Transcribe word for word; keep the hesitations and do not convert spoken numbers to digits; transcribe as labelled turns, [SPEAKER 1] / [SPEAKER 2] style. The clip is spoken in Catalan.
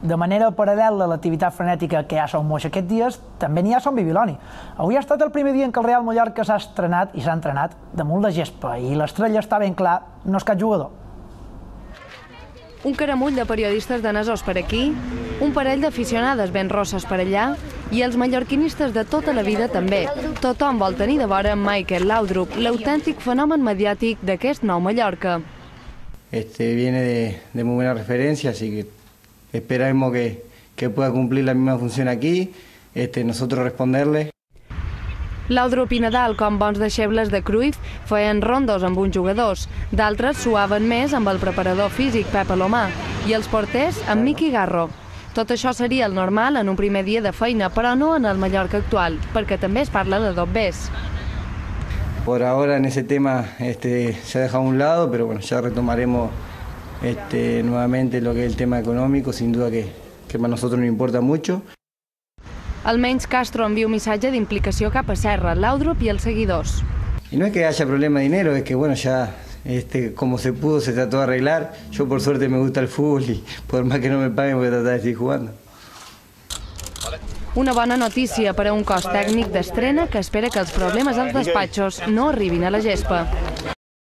[SPEAKER 1] De manera paral·lela a l'activitat frenètica que hi ha a Son Moix aquests dies, també n'hi ha a Son Bibiloni. Avui ha estat el primer dia en què el Real Mallorca s'ha estrenat i s'ha entrenat damunt la gespa i l'estrella està ben clar, no és cap jugador.
[SPEAKER 2] Un caramull de periodistes danesos per aquí, un parell d'aficionades ben rosses per allà i els mallorquinistes de tota la vida també. Tothom vol tenir de vora Michael Laudrup, l'autèntic fenomen mediàtic d'aquest nou Mallorca.
[SPEAKER 3] Este viene de, de muy buena referencia, así que esperemos que, que pueda cumplir la misma función aquí, este, nosotros responderle.
[SPEAKER 2] Laudrup i Nadal, com bons deixebles de Cruyff, feien rondos amb uns jugadors. D'altres suaven més amb el preparador físic Pep Alomar i els porters amb Miqui Garro. Tot això seria el normal en un primer dia de feina, però no en el Mallorca actual, perquè també es parla de dobbers.
[SPEAKER 3] Por ahora en ese tema este, se ha dejado a un lado, pero bueno, ya retomaremos este, nuevamente lo que es el tema económico, sin duda que, que para nosotros nos importa mucho.
[SPEAKER 2] Almenys Castro envia un missatge d'implicació cap a Serra, Laudrup i els seguidors.
[SPEAKER 3] Y no es que haya problema de dinero, es que bueno, ya este, como se pudo se trató de arreglar. Yo por suerte me gusta el fútbol y por más que no me paguen voy a tratar de seguir jugando.
[SPEAKER 2] Una bona notícia per a un cos tècnic d'estrena que espera que els problemes als despatxos no arribin a la gespa.